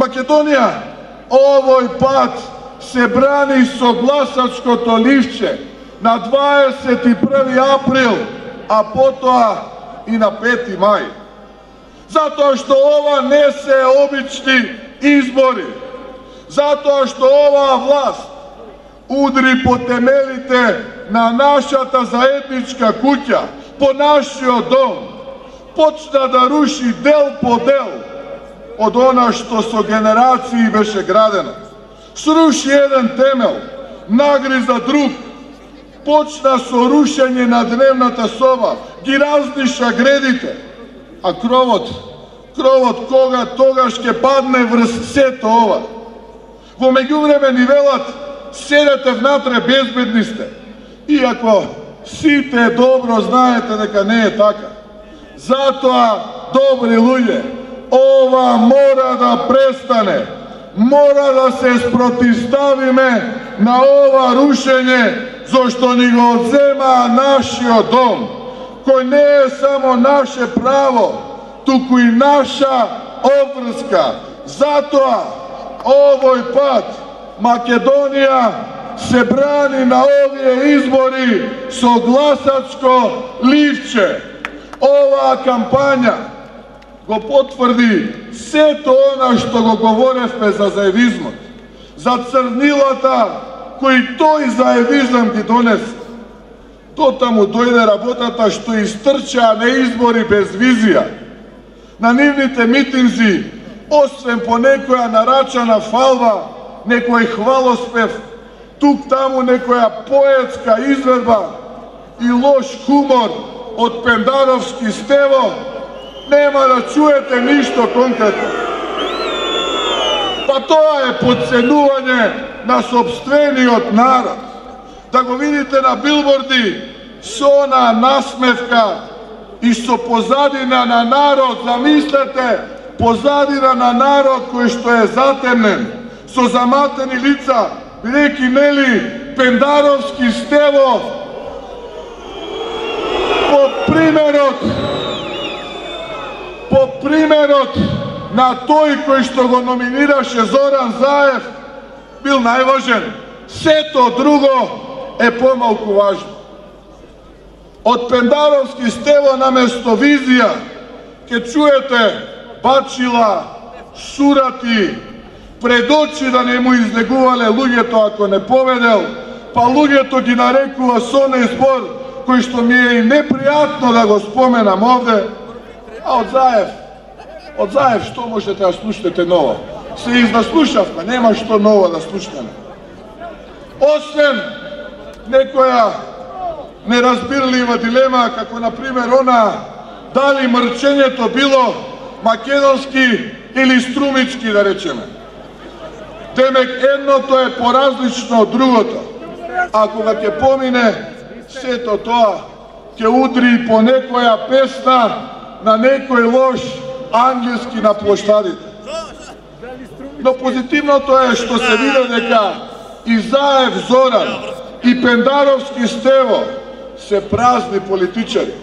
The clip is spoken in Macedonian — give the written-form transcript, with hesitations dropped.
Македонија овој пат се брани со гласачкото ливче на 21 април, а потоа и на 5 мај. Затоа што ова не се обични избори. Затоа што оваа власт удри по темелите на нашата заедничка куќа, по нашиот дом, почна да руши дел по дел од она што со генерации беше градено. Сруши еден темел, нагриза друг, почна со рушење на дневната соба, ги разниша гредите, а кровот кога тогаш ќе падне врз сето ова. Во меѓувреме ни велат, седете внатре, безбедни сте. Иако сите добро знаете дека не е така. Затоа, добри луѓе, ова мора да престане. Мора да се спротивставиме на ова рушење, зашто ни го одзема нашиот дом, кој не е само наше право, туку и наша обврска. Затоа, овој пат Македонија се брани на овие избори со гласачко ливче. Оваа кампања го потврди сето она што го говоревме за заевизмот, за црнилата кои тој заевизам ги донесе. Дотаму дојде работата што истрчаа на избори без визија. На нивните митинзи, освен по некоја нарачана фалба, некој хвалоспев, тук-таму некоја поетска изведба и лош хумор од Пендаровски Стево, нема да чуете ништо конкретно. Па тоа е потценување на сопствениот народ. Да го видите на билборди со она насмевка и со позадина на народ, замислете, позадина на народ кој што е затемнен, со заматени лица, бидејќи нели Пендаровски Стево по примерот на тој кој што го номинираше Зоран Заев бил најважен. Сето друго е помалку важно. Од Пендаровски Стево наместо визија ќе чуете бачила, сурати, пред очи да не му излегувале луѓето ако не победел, па луѓето ги нарекува со оној збор кој што ми е и непријатно да го споменам овде, а од Заев што можете да слушнете ново? Се изнаслушавме, нема што ново да слушнеме. Освен некоја неразбирлива дилема, како например она дали мрчењето било македонски или струмички, да речеме. Демек едното е поразлично од другото. А кога ќе помине сето тоа, ќе удри по некоја песна на некој лош англиски на плоштадите. Но позитивното е што се види дека и Заев Зоран и Пендаровски Стево се празни политичари.